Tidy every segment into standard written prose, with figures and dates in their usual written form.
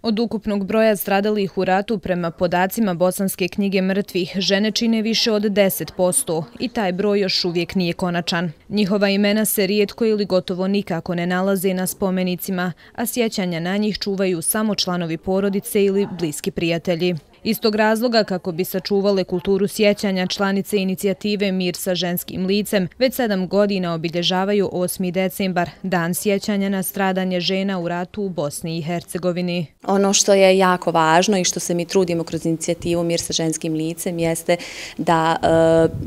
Od ukupnog broja stradalih u ratu prema podacima Bosanske knjige mrtvih, žene čine više od 10% i taj broj još uvijek nije konačan. Njihova imena se rijetko ili gotovo nikako ne nalaze na spomenicima, a sjećanja na njih čuvaju samo članovi porodice ili bliski prijatelji. Iz tog razloga, kako bi sačuvale kulturu sjećanja, članice inicijative Mir sa ženskim licem već 7 godina obilježavaju 8. decembar, dan sjećanja na stradanje žena u ratu u Bosni i Hercegovini. Ono što je jako važno i što se mi trudimo kroz inicijativu Mir sa ženskim licem jeste da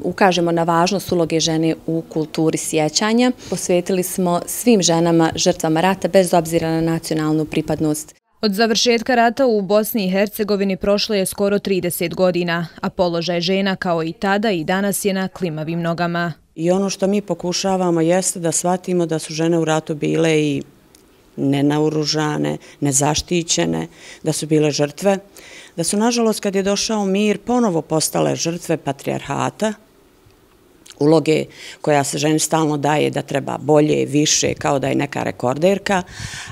ukažemo na važnost uloge žene u kulturi sjećanja. Posvetili smo svim ženama žrtvama rata bez obzira na nacionalnu pripadnost. Od završetka rata u Bosni i Hercegovini prošlo je skoro 30 godina, a položaj žena kao i tada i danas je na klimavim nogama. I ono što mi pokušavamo jeste da shvatimo da su žene u ratu bile i nenaoružane, nezaštićene, da su bile žrtve, da su nažalost kad je došao mir ponovo postale žrtve patrijarhata, uloge koja se ženi stalno daje da treba bolje, više, kao da je neka rekorderka,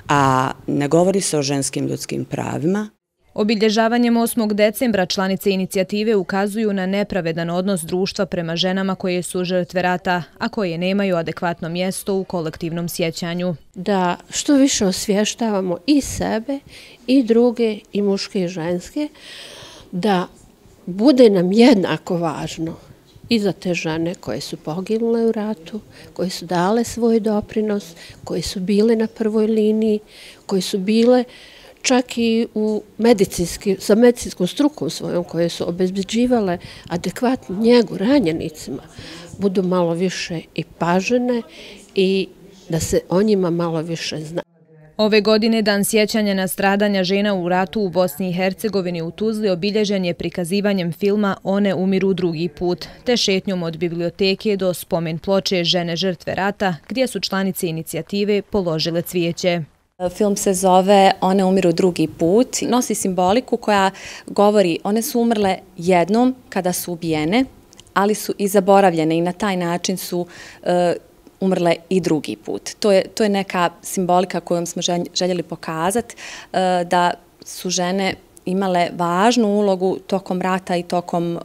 a ne govori se o ženskim ljudskim pravima. Obilježavanjem 8. decembra članice inicijative ukazuju na nepravedan odnos društva prema ženama koje su žrtve rata, a koje nemaju adekvatno mjesto u kolektivnom sjećanju. Da što više osvještavamo i sebe, i druge, i muške i ženske, da bude nam jednako važno i za te žene koje su poginule u ratu, koje su dale svoj doprinos, koje su bile na prvoj liniji, koje su bile čak i sa medicinskom strukom svojom, koje su obezbeđivale adekvatnu njegu ranjenicima, budu malo više i pažene i da se o njima malo više zna. Ove godine Dan sjećanja na stradanja žena u ratu u Bosni i Hercegovini u Tuzli obilježen je prikazivanjem filma One umiru drugi put, te šetnjom od biblioteke do spomen ploče Žene žrtve rata, gdje su članice inicijative položile cvijeće. Film se zove One umiru drugi put. Nosi simboliku koja govori one su umrle jednom kada su ubijene, ali su i zaboravljene i na taj način su umrle i drugi put. To je neka simbolika kojom smo željeli pokazati da su žene imale važnu ulogu tokom rata i tokom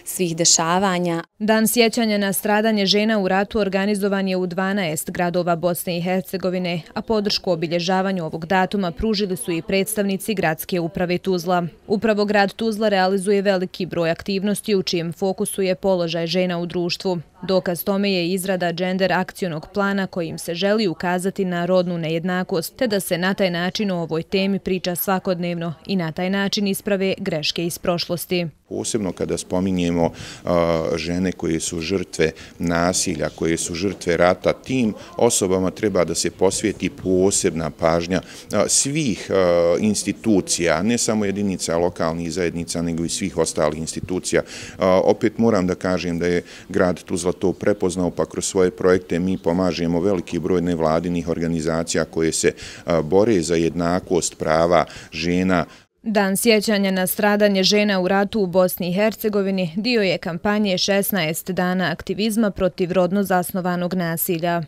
svih dešavanja. Dan sjećanja na stradanje žena u ratu organizovan je u 12 gradova Bosne i Hercegovine, a podršku obilježavanju ovog datuma pružili su i predstavnici gradske uprave Tuzla. Upravo grad Tuzla realizuje veliki broj aktivnosti u čijem fokusu je položaj žena u društvu. Dokaz tome je izrada gender akcionog plana kojim se želi ukazati na rodnu nejednakost, te da se na taj način o ovoj temi priča svakodnevno i na taj način isprave greške iz prošlosti. Posebno kada spominjemo žene koje su žrtve nasilja, koje su žrtve rata, tim osobama treba da se posvijeti posebna pažnja svih institucija, ne samo jedinica lokalnih zajednica, nego i svih ostalih institucija. Opet moram da kažem da je grad Tuzla to prepoznao, pa kroz svoje projekte mi pomažemo veliki broj nevladinih organizacija koje se bore za jednakost prava žena. Dan sjećanja na stradanje žena u ratu u Bosni i Hercegovini dio je kampanje 16 dana aktivizma protiv rodno zasnovanog nasilja.